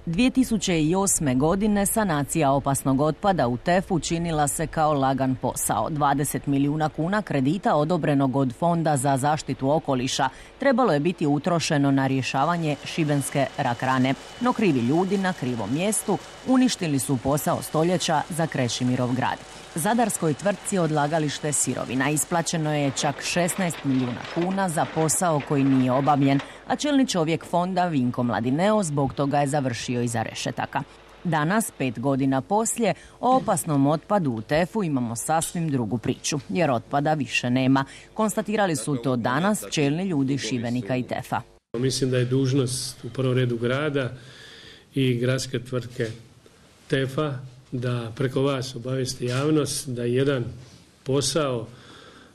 2008. godine sanacija opasnog otpada u TEF-u činila se kao lagan posao. 20 milijuna kuna kredita odobrenog od Fonda za zaštitu okoliša trebalo je biti utrošeno na rješavanje šibenske rak rane. No krivi ljudi na krivom mjestu uništili su posao stoljeća za Krešimirov grad. Zadarskoj tvrtci odlagalište sirovina isplaćeno je čak 16 milijuna kuna za posao koji nije obavljen, a čelni čovjek fonda Vinko Mladineo zbog toga je završio iza rešetaka. Danas, 5 godina poslije, o opasnom otpadu u TEF-u imamo sasvim drugu priču, jer otpada više nema. Konstatirali su to danas čelni ljudi Šibenika i TEF-a. Mislim da je dužnost u prvom redu grada i gradske tvrtke TEF-a da preko vas obavijesti javnost da jedan posao,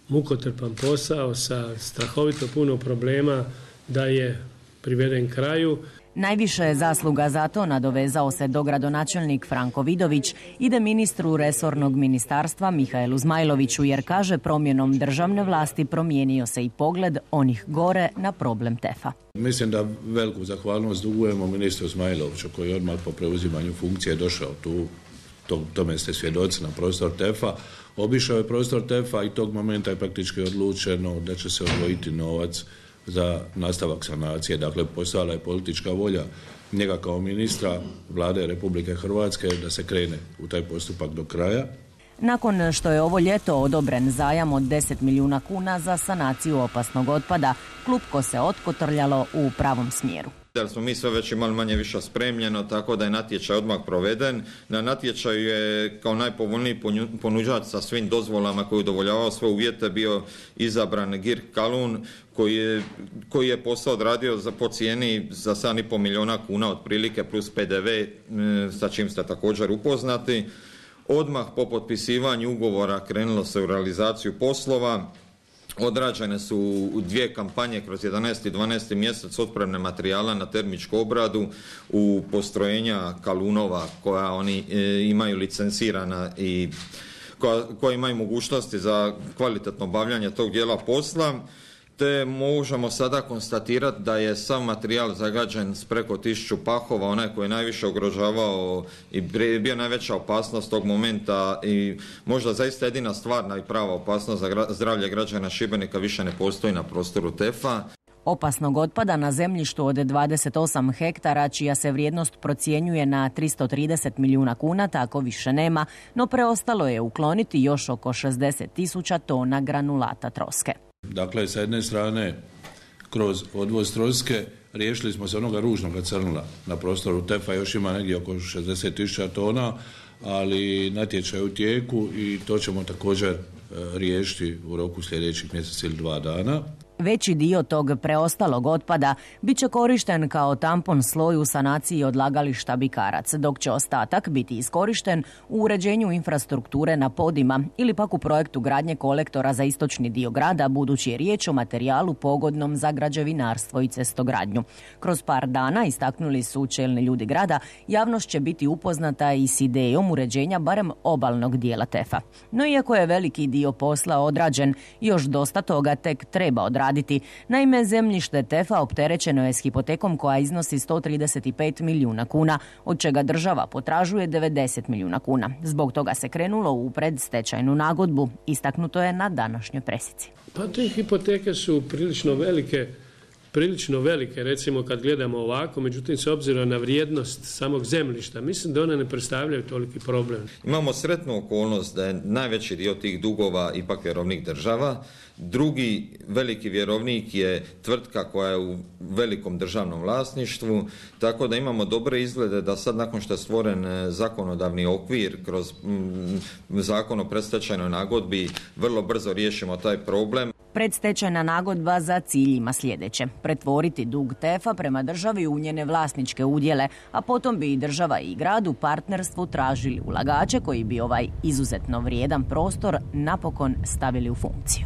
mukotrpan posao sa strahovito puno problema da je priveden kraju. Najviše je zasluga za to, nadovezao se dogradonačelnik Franko Vidović, ide ministru resornog ministarstva Mihaelu Zmajloviću, jer kaže promjenom državne vlasti promijenio se i pogled onih gore na problem TEF-a. Mislim da veliku zahvalnost dugujemo ministru Zmajloviću koji je odmah po preuzimanju funkcije došao tu. Tome ste svjedoci na prostor TEF-a. Obišao je prostor TEF-a i tog momenta je praktički odlučeno da će se odvojiti novac za nastavak sanacije. Dakle, postojala je politička volja njega kao ministra Vlade Republike Hrvatske da se krene u taj postupak do kraja. Nakon što je ovo ljeto odobren zajam od 10 milijuna kuna za sanaciju opasnog otpada, klupko se otkotrljalo u pravom smjeru. Da smo mi sve već imali manje više spremljeno, tako da je natječaj odmah proveden. Na natječaju je kao najpovoljniji ponuđač sa svim dozvolama koji je udovoljavao sve uvjete bio izabran Girk Kalun koji je posao odradio po cijeni za 7,5 milijuna kuna otprilike plus PDV sa čim ste također upoznati. Odmah po potpisivanju ugovora krenulo se u realizaciju poslova. Odrađene su 2 kampanje kroz 11. i 12. mjesec otpremne materijala na termičku obradu u postrojenja Kalunova koja oni imaju licencirana i koja imaju mogućnosti za kvalitetno obavljanje tog dijela posla. Te možemo sada konstatirati da je sav materijal zagađen s preko 1000 pahova, onaj koji je najviše ugrožavao i bio najveća opasnost tog momenta i možda zaista jedina stvarna i prava opasnost za zdravlje građana Šibenika više ne postoji na prostoru TEF-a. Opasnog otpada na zemljištu od 28 hektara, čija se vrijednost procjenjuje na 330 milijuna kuna, tako više nema, no preostalo je ukloniti još oko 60.000 tona granulata troske. Dakle, sa jedne strane, kroz odvoz troske riješili smo se onoga ružnoga crnila na prostoru TEF-a, još ima negdje oko 60.000 tona, ali natječaj je u tijeku i to ćemo također riješiti u roku sljedećih mjesec ili 2 dana. Veći dio tog preostalog otpada bit će korišten kao tampon sloj u sanaciji odlagališta Bikarac, dok će ostatak biti iskorišten u uređenju infrastrukture na podima ili pak u projektu gradnje kolektora za istočni dio grada, budući je riječ o materijalu pogodnom za građevinarstvo i cestogradnju. Kroz par dana, istaknuli su čelni ljudi grada, javnost će biti upoznata i s idejom uređenja barem obalnog dijela TEF-a. No iako je veliki dio posla odrađen, još dosta toga tek treba odraditi. Naime, zemljište TEF-a opterećeno je s hipotekom koja iznosi 135 milijuna kuna, od čega država potražuje 90 milijuna kuna. Zbog toga se krenulo u predstečajnu nagodbu, istaknuto je na današnjoj presici. Pa te hipoteke su prilično velike, recimo kad gledamo ovako, međutim s obzirom na vrijednost samog zemljišta, mislim da one ne predstavljaju toliki problem. Imamo sretnu okolnost da je najveći dio tih dugova ipak vjerovnik država. Drugi veliki vjerovnik je tvrtka koja je u velikom državnom vlasništvu, tako da imamo dobre izglede da sad nakon što je stvoren zakonodavni okvir kroz zakon o predstečajnoj nagodbi vrlo brzo riješimo taj problem. Predstečajna nagodba za cilj ima sljedeće: pretvoriti dug TEF-a prema državi u njene vlasničke udjele, a potom bi i država i grad u partnerstvu tražili ulagače koji bi ovaj izuzetno vrijedan prostor napokon stavili u funkciju.